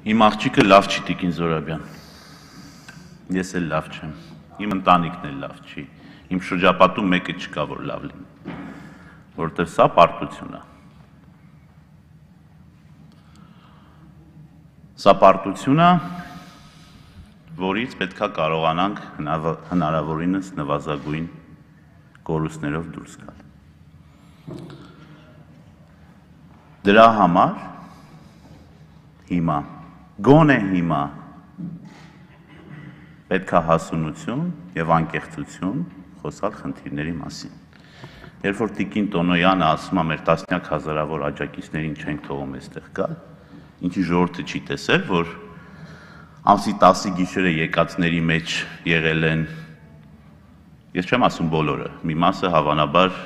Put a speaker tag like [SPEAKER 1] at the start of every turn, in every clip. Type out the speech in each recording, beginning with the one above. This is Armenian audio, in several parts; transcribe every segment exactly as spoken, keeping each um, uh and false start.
[SPEAKER 1] Իմ աղջիկը լավ չի, Տիկին Զորաբյան, ես էլ լավ չեմ, իմ ընտանիքն էլ լավ չի, իմ շրջապատում մեկը չկա, որ լավ լինի, որովհետև սա պարտություն է։ Սա պարտություն է, որից պետք է կարողանանք հնարավորինս նվազագույն կորուստներով դուրս գալ։ Դրա համար հիմա, գոնե հիմա պետք է հասունություն և անկեղծություն խոսալ խնդիրների մասին։ Երբ որ Տիկին Տոնոյանը ասում է մեր տասնյակ հազարավոր աջակիցներին չենք թողում այստեղ գալ, ինչի ժողովուրդը չի տեսել, որ ամսի տասի գիշերը եկածների մեջ եղել են, ես չեմ ասում բոլորը, մի մասը հավանաբար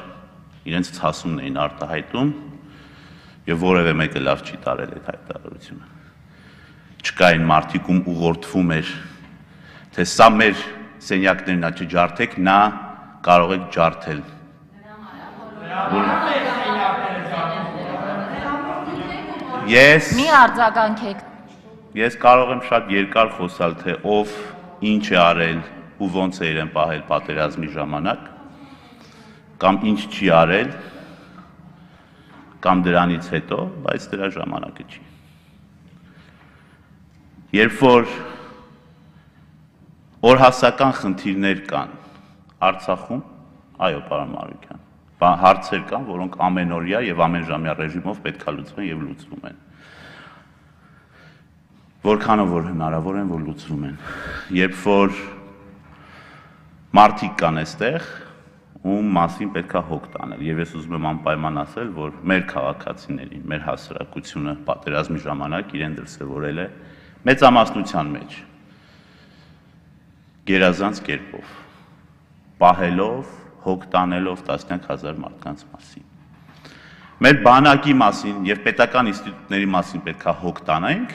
[SPEAKER 1] իրենց ցասումն էին արտահայտում և որևէ մեկը լավ չի տարել այդ հայտարարությունը։ Չկային մարդիկ, ում ուղղորդվում էր, թե սա մեր սենյակներն է, չջարդեք, նա կարող եք ջարդել։ Ես
[SPEAKER 2] Մի արձագանքեք։
[SPEAKER 1] Ես կարող եմ շատ երկար խոսալ, թե ով ինչ է արել ու ոնց է իրեն պահել պատերազմի ժամանակ, կամ ինչ չի արել, կամ դրանից հետո, բայց դրա ժամանակը չի։ Երբ որ օրհասական խնդիրներ կան Արցախում, այո, պարոն Մանուկյան, հարցեր կան, որոնք ամենօրյա և ամենժամյա ռեժիմով պետք է լուծվեն և լուծվում են։ Որքանով որ հնարավոր են, որ լուծվում են։ Երբ որ մարդիկ կան այստեղ, ում մասին պետք է հոգ տանել, և ես ուզում եմ անպայման ասել, որ մեր քաղաքացիներին, մեր հասարակությունը պատերազմի ժամանակ իրեն դրսևորել է մեծամասնության մեջ, գերազանց կերպով, պահելով, հոգ տանելով տասնյակ հազար մարդկանց մասին։ Մեր բանակի մասին և պետական ինստիտուտների մասին պետք է հոգ տանենք,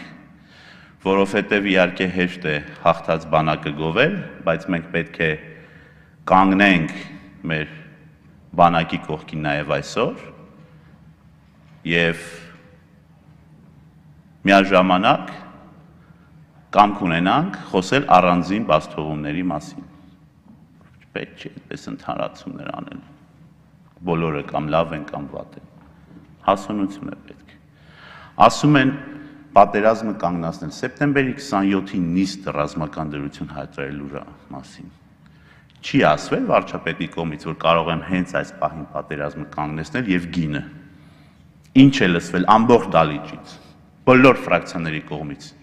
[SPEAKER 1] որովհետև իհարկե հեշտ է հաղթած բանակը գովել, բայց մենք պետք է կանգնենք մեր բանակի կողքին նաև այսօր և միաժամանակ կամք ունենանք խոսել առանձին բացթողումների մասին։ Պետք չի այդպես ընդհանրացումներ անել, բոլորը կամ լավ են, կամ վատ են, հասունություն է պետք։ Ասում են պատերազմը կանգնացնել, սեպտեմբերի քսանյոթի նիստ ռազմական դրություն հայտարարելու մասին։ Չի ասվել վարչապետի կողմից, որ կարող եմ հենց այս պահին պատերազմը կանգնեցնել և գինը։ Ինչ է լսվել ամբողջ դահլիճից, բոլոր ֆրակցիաների կողմից։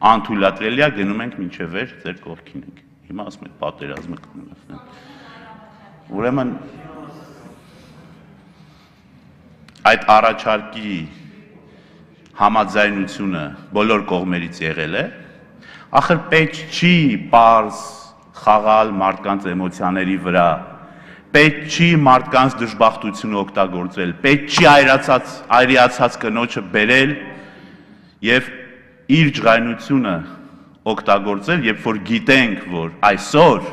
[SPEAKER 1] Անթույլատրելի է, գնում ենք մինչև վերջ, ձեր կողքին ենք։ Հիմա ասում եք պատերազմը կանգնեցնել։ Ուրեմն այդ առաջարկի համաձայնությունը բոլոր կողմերից եղել է, ախր պետք չի պարզ խաղալ մարդկանց էմոցիաների վրա, պետք չի մարդկանց դժբախտությունը օգտագործել, պետք չի այրացած կնոջը բերել և իր ջղայնությունը օգտագործել, երբ որ գիտենք, որ այսօր,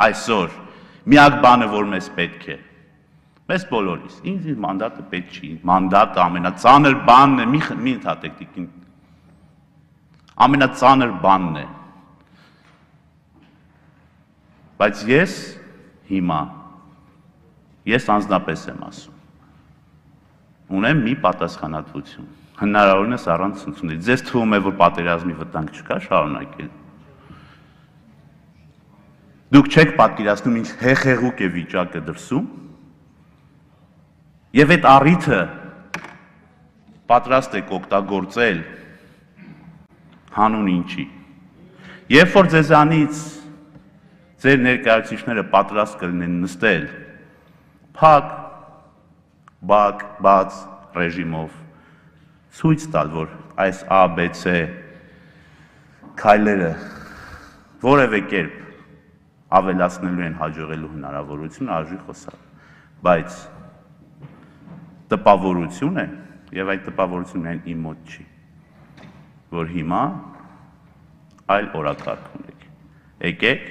[SPEAKER 1] այսօր միակ բանը, որ մեզ պետք է, մեզ բոլորիս, ինձ իր մանդատը պետք չի, մանդատը ամենածանր բանն է, մի ընդհատեք Տիկին, ամենածանր բանն է, բայց ես հիմա, ես անձնապես եմ ասում, ունեմ մի պատասխանատվություն, հնարավորինս առանց ցնցումների, ձեզ թվում է, որ պատերազմի վտանգ չկա, շարունակել։ Դուք չեք պատկերացնում, ինչ հեղեղուկ է վիճակը դրսում, և այդ առիթը պատրաստ եք օգտագործել հանուն ինչի։ Երբ որ ձեզանից ձեր ներկայացուցիչները պատրաստ կլինեն նստել փակ, բակ, բաց ռեժիմով, ցույց տալ, որ այս A, B, C քայլերը որևէ կերպ ավելացնելու են հաջողելու հնարավորությունը, արժի խոսալ, բայց տպավորություն է, և այդ տպավորությունը միայն իմ մոտ չի, որ հիմա այլ օրակարգ ունեք, եկեք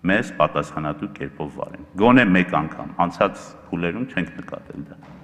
[SPEAKER 1] մեզ պատասխանատու կերպով վարեն, գոնե մեկ անգամ, անցած փուլերում չենք նկատել դա։